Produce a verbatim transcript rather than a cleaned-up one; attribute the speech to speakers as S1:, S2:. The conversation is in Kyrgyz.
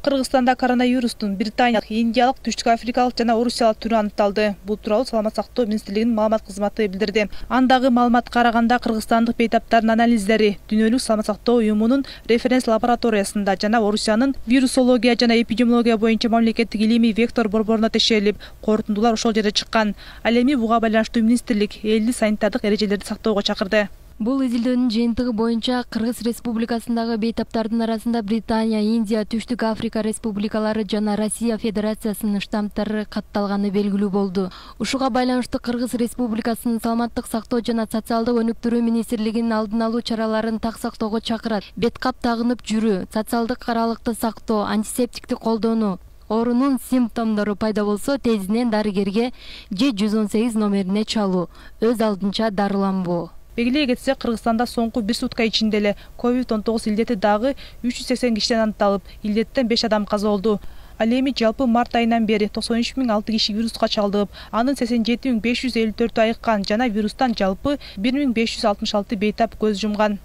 S1: Кыргызстанда коронавирустун британиялык, индиялык, түштүк африкалык жана орусиялык түрү аныкталды. Бул тууралуу Саламат сактоо министрлигинин маалымат кызматы билдирди. Андагы маалыматка караганда кыргызстандык бейтаптардын анализдери Дүйнөлүк саламат сактоо уюмунун референс лабораториясында жана Орусиянын вирусология жана эпидемиология боюнча мамлекеттик илимий вектор борборуна текшерилип, корутундулар ошол жерде чыккан. Ал эми буга байланыштуу министрлик элди санитардык эрежелерди сактоого чакырды.
S2: Бул изилдөөнүн жыйынтыгы боюнча Кыргыз Республикасындагы бейтаптардын арасында Британия, Индия, Түштүк Африка республикалары жана Россия Федерациясынын штаммдары катталганы белгилүү болду. Ушуга байланыштуу Кыргыз Республикасынын Саламаттык сактоо жана социалдык өнүктүрүү министрлигинин алдын алуу чараларын так сактоого чакырат. Бет кап тагынып жүрүү, социалдык аралыкты сактоо, антисептикти колдонуу, оорунун симптомдору пайда болсо тезинен дарыгерге же жүз он сегиз номерине чалуу, өз алдынча дарыланбоо.
S1: Белгилей кетсек, Кыргызстанда соңку бир сутка ичинде эле ковид он тогуз илдети дагы үч жүз сексен кишиден аныкталып, илдеттен беш адам каза болду. Ал эми жалпы март айынан бери токсон үч миң алты киши вируска чалдыгып, анын сексен жети миң беш жүз элүү төртү айыккан жана вирустан жалпы бир миң беш жүз алтымыш алты бейтап көз жумган.